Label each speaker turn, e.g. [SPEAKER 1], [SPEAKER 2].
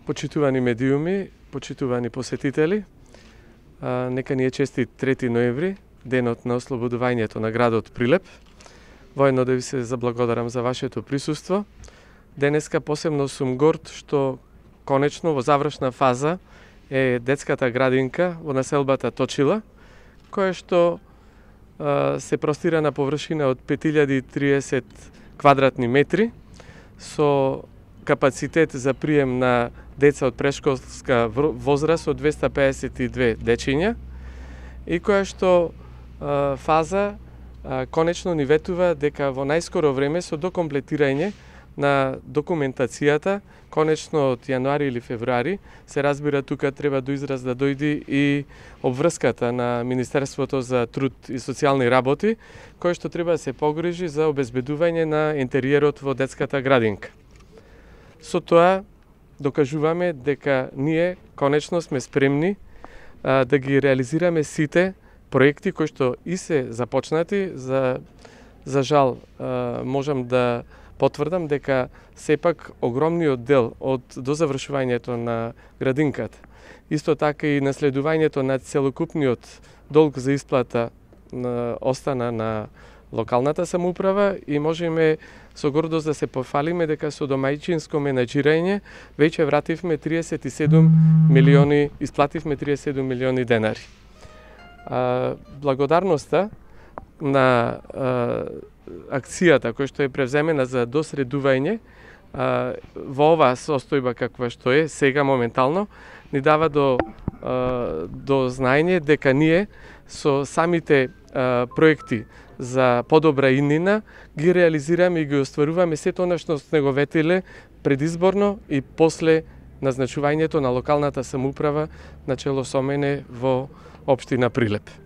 [SPEAKER 1] Почитувани медиуми, почитувани посетители, нека ни е честит 3 ноември, денот на ослободувањето на градот Прилеп. Воедно да ви се заблагодарам за вашето присуство. Денеска посебно сум горд што конечно во завршна фаза е детската градинка во населбата Точила, која што се простира на површина од 5030 квадратни метри, со капацитет за прием на деца од прешколска возраст од 252 дечиња и која што фаза конечно ни ветува дека во најскоро време со докомплетирање на документацијата, конечно од јануари или февруари, се разбира тука треба до израз да дојде и обврската на Министерството за труд и социјални работи, кој што треба да се погрижи за обезбедување на интериерот во детската градинка. Со тоа докажуваме дека ние конечно сме спремни да ги реализираме сите проекти кои што и се започнати. За жал можам да потврдам дека сепак огромниот дел од дозавршувањето на градинката, исто така и наследувањето на целокупниот долг за исплата остана на локалната самоуправа и можеме со гордост да се пофалиме дека со домајчинско менаџирање веќе вративме 37 милиони, исплативме 37 милиони денари. Благодарноста на акцијата која што е превземена за досредување во оваа состојба каква што е сега моментално ни дава до знаење дека ние со самите проекти за подобра иднина ги реализираме и ги остваруваме сето она што сме го ветиле предизборно и после назначувањето на локалната самоуправа на чело со мене во општина Прилеп.